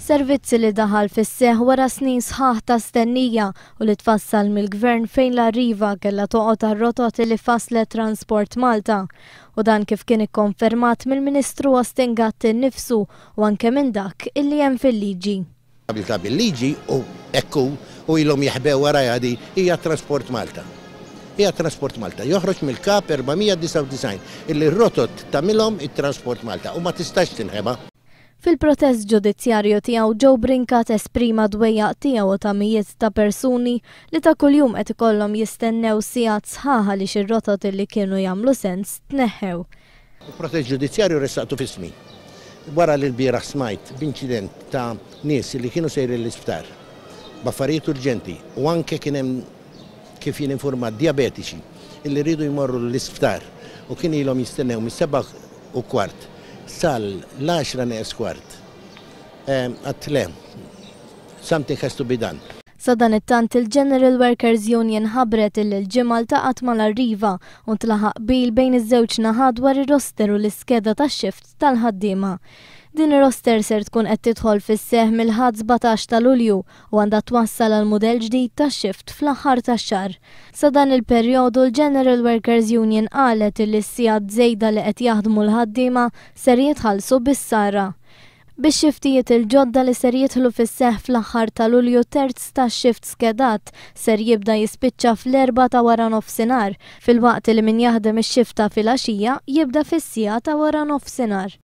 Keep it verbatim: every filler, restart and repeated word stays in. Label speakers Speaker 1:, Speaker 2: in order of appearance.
Speaker 1: Servizzi li daħal fis-seħ wara snin sħaħ ta' stennija u li tfassal mill-gvern fejn l-Arriva kellha toqgħod għar-rotot li faslet Transport Malta. U dan kif kien ikkonfermat mill-Ministru Austin Gatt innifsu u anke minn dak illi hemm fil-liġi.
Speaker 2: Abilità bil-liġi u ekku u ilhom jaħbew warajha di hija Transport Malta. Hija Transport Malta. Joħroġ mill-kap erba' mija disgħa u disgħin illi r-rotot tagħmilhom it-Transport Malta u ma tistax tinħeba.
Speaker 1: Fil-protest ġudizzjarju tiegħu, Joe Brincat esprima dwejjaq tiegħu ta' mijiet ta' persuni li ta' kuljum qed ikollhom jistennew sigħat sħaħ għaliex ir-rotot li kienu jagħmlu sens tneħħew.
Speaker 2: Il-protest ġudizzjarju ressaqtu f'ismi. Wara li l-bieraħ smajt b'inċident ta' nies li kienu sejrin l-isptar b'affarijiet urġenti u anke kien hemm, kif jien informat, diabetiċi illi rridu jmorru l-isptar u kien ilhom jistennew mis-seba' u kwart sal l-għaxra neqes kwart. Għedt le, something has to be done.
Speaker 1: Sadanittant, il-General Workers Union ħabbret illi l-Ġimgħa ltaqgħet mal-Arriva u ntlaħaq qbil bejn iż-żewġ naħat dwar ir-roster u l-iskeda tax-shift tal-ħaddiema. Din ir-roster ser tkun qed tidħol fis-seħ mill-Ħadd sbatax ta' Lulju u għandha twassal għal mudell ġdid tax-shift fl-aħħar tax-xahar. Sa dan il-perjodu, l-General Workers Union qalet li s-sigħat żejda li qed jaħdmu l-ħaddiema ser jitħallsu bis-sara. Bix-xiftijiet il-ġodda li ser jidħlu fis-seħ fl-aħħar ta' Lulju, terz ta' shift skedat ser jibda jispiċċa fl-erba' ta' wara nofsinhar, filwaqt li min jaħdem ix-xifta filgħaxija jibda fis-siegħa ta' wara nofsinhar.